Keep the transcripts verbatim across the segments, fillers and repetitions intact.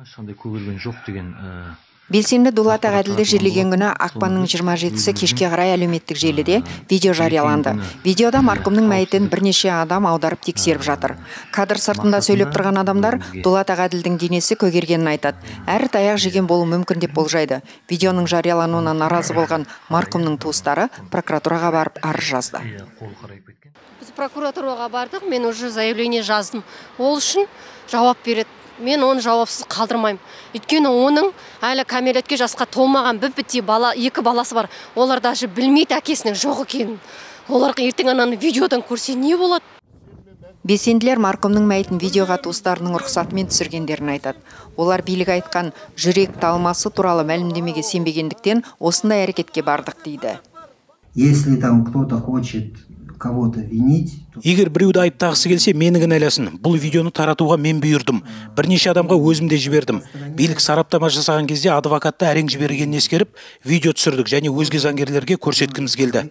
ешқандай көгерген жоқ деген. Белсенді Дулат Ағаділді жерлеген күні ақпанның жиырма жетісі кешке қарай әлеуметтік желіде видео жарияланды. Видеода марқұмның мәйітін бірнеше адам аударып тексеріп жатыр. Кадр сыртында сөйлеп тұрған адамдар Дулат Ағаділдің денесі көгергенін айтады. Әрі таяқ жеген болуы мүмкін деп болжайды. Видеоның жариялануына наразы болған марқұмның туыстары прокуратураға барып арыз жазды. Біз прокуратураға бардық, мен уже заявление жаздым. Ол үшін жауап береді. Мен оны жауапсыз қалдырмаймын. Өйткені оның әлі кәмелетке жасқа толмаған бір-біттей бала, екі баласы бар. Олар даже білмейді әкесінің жоқ екенін. Оларға ертең ананы видеодан көрсе не болады? Белсенділер марқұмның мәйітін видеоға туыстарының рұқсатымен түсіргендерін айтады. Олар билік айтқан жүрек талмасы туралы мәлімдемеге сенбегендіктен осындай әрекетке бардық дейді. Если там кто-то хочет кого-то винить. Егер біреуді айыптағысы келсе, мені кінәласын. Бұл видеоны таратуға мен бұйырдым. Бірнеше адамға өзім де жібердім. Билік сараптама жасаған кезде адвокатты әрең жібергенін ескеріп, видео түсірдік және өзге заңгерлерге көрсеткіміз келді.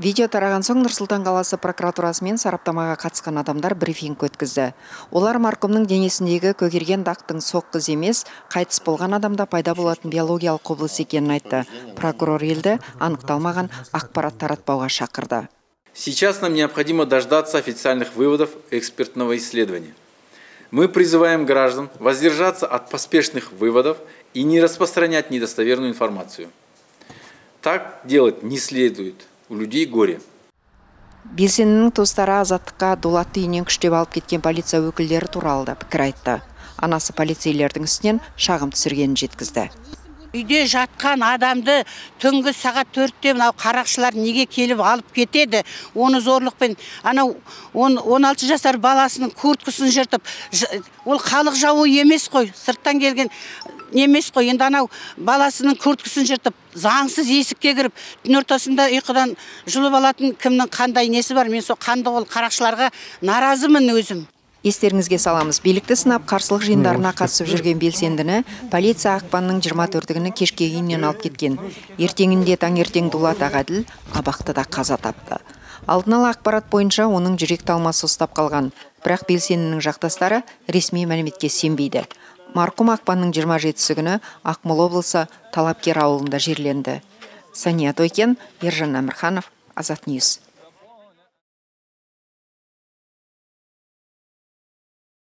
Видео тараған соң Нұр-Сұлтан қаласы прокуратурасы мен сараптамаға қатысқан адамдар брифинг өткізді. Олар марқұмның денесіндегі көгерген дақтың соққыз емес, қайтыс болған адамда пайда болатын биологиялық құбылыс екенін айтты. Прокурор елді анықталмаған ақпарат таратпауға шақырды. Сейчас нам необходимо дождаться официальных выводов экспертного исследования. Мы призываем граждан воздержаться от поспешных выводов и не распространять недостоверную информацию. Так делать не следует. У людей горе. Белсендінің туыстары азаттыққа Дулатты үйінен күштеп алып кеткен полиция өкілдері туралы да пікір айтты. Анасы полицейлердің үстінен шағым түсіргенін жеткізді. Үйде жатқан адамды түнгі сағат төртте мынау қарақшылар неге келіп алып кетеді? Оны зорлықпен, анау он алты жасар баласының курткасын жыртып, ол халық жауы емес қой, сырттан келген немес қой. Енді анау баласының курткасын жыртып, заңсыз есікке кіріп, түн ортасында ұйқыдан жұлып алатын кімнің қандай несі бар? Мен со қанды ол қарақшыларға наразымын өзім. Естеріңізге саламыз, билікті сынап қарсылық жиындарына қатысып жүрген белсендіні полиция ақпанның жиырма төртігіні кешке үйінен алып кеткен. Ертеңінде таңертең Дулат Ағаділ абақтыда қаза тапты. Алдын ала ақпарат бойынша оның жүрек талмасы ұстап қалған, бірақ белсендінің жақтастары ресми мәліметке сенбейді. Марқұм ақпанның жиырма жетісі күні Ақмола облысы Талапкер ауылында жерленді. Сания Тойкен, Ержан Әмірханов, Азат Ньюс.